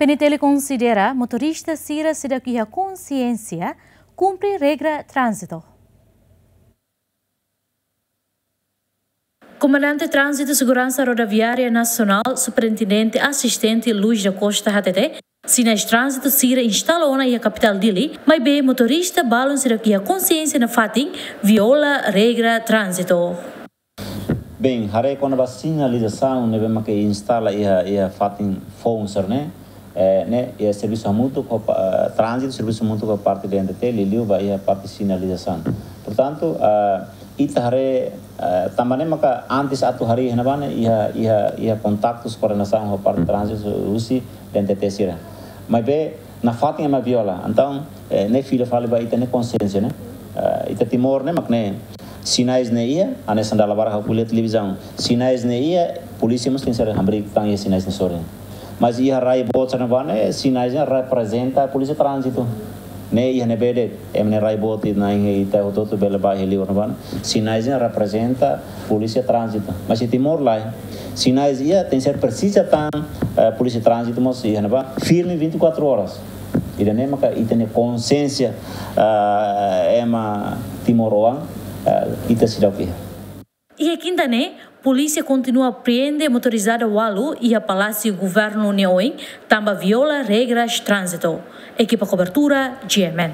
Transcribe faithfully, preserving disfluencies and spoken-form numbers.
CNTL konsidera motorista sira seidauk iha konsiénsia kumpre regra tránzitu. Komandante Tránzitu Seguransa Rodoviária Nasionál, Superintendente Asistente Luis da Costa hatete, sinais tránzitu sira instala ona iha kapitál Dili, maibé motorista balun seidauk iha konsiénsia nafatin viola regra tránzitu. Bem, haree kona-ba sinalizasaun ne'ebé maka instala iha, iha fatin foun sira-ne'e, eh, ne'e, iha servisu hamutuk ho pa-, eh, tránzitu, servisu hamutuk ho parte D N T T, liuliu ba iha parte sinalizasaun. Portantu, eh, ita haree, eh, tanba ne'e maka antes atu harii iha ne'ebá ne'e, iha, iha, iha kontaktus koordenasaun ho parte tránzitu husi D N T T sira. Maibé, nafatin ema viola. Entaun, eh, ne'e fila fali ba ita-nia konsiénsia, ne'e? Eh, ita Timor ne'e mak ne'e. Sinais ne'e iha, hanesan dala barak ha'u ko'alia iha televizaun. Sinais ne'e iha, polísia mós tenke ser hamriik tan iha sinais ne'e sorin. Mas iha rai boot sira-ne'ebá ne'e, sinais ne'e reprezenta polísia tránzitu. Ne'e iha ne'ebé de'it, ema ne'e rai boot ita-nia, ita hotu-hotu bele bá iha liur ne'ebá ne'e. Sinais ne'e reprezenta polísia tránzitu. Mas iha Timor lae. Sinais iha, tenke ser presiza tan, eh, polísia tránzitu mós iha ne'ebá firme vinte e quatro horas. Ida-ne'e maka ita-nia konsiénsia, eh, ema timoroan, eh, ita seidauk iha. Iha kinta ne'e, polísia kontinua prende motorizada ualu iha Palásiu Governu nia oin, tanba viola regras tránzitu. Ekipa kobertura, G M N.